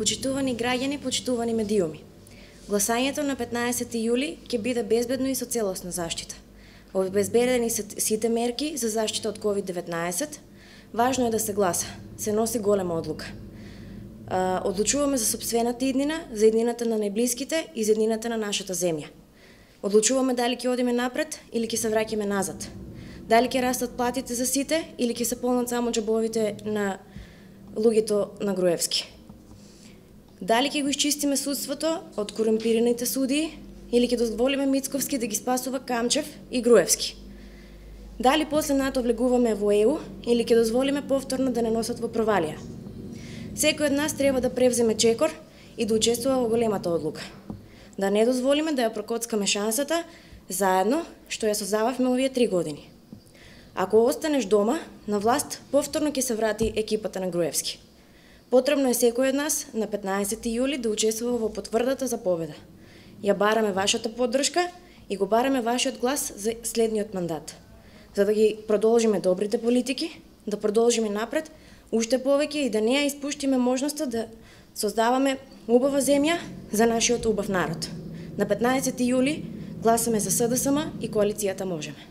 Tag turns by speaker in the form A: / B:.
A: Почитувани граѓани, почитувани медиуми. Гласањето на 15 јули ќе биде безбедно и со целосна заштита. Обезбедени се сите мерки за заштита од COVID-19. Важно е да се гласа. Се носи голема одлука. Одлучуваме за сопствената иднина, за иднината на најблиските и за иднината на нашата земја. Одлучуваме дали ќе одиме напред или ќе се враќаме назад. Дали ќе растат платите за сите или ќе се полнат само џебовите на луѓето на Груевски. Дали ќе го исчистиме судството од корумпираните судии или ќе дозволиме Мицковски да ги спасува Камчев и Груевски. Дали после НАТО влегуваме во ЕУ или ќе дозволиме повторно да не носат во провалија. Секој од нас треба да превземе чекор и да учествува во големата одлука. Да не дозволиме да ја прокоцкаме шансата заедно што ја созававме овие 3 години. Ако останеш дома, на власт повторно ќе се врати екипата на Груевски. Потребно е секој од нас на 15 јули да учествува во потврдата за победа. Ја бараме вашата поддршка и го бараме вашиот глас за следниот мандат. За да ги продолжиме добрите политики, да продолжиме напред, уште повеќе и да не ја испуштиме можноста да создаваме убава земја за нашиот убав народ. На 15 јули гласаме за СДСМ и коалицијата Можеме.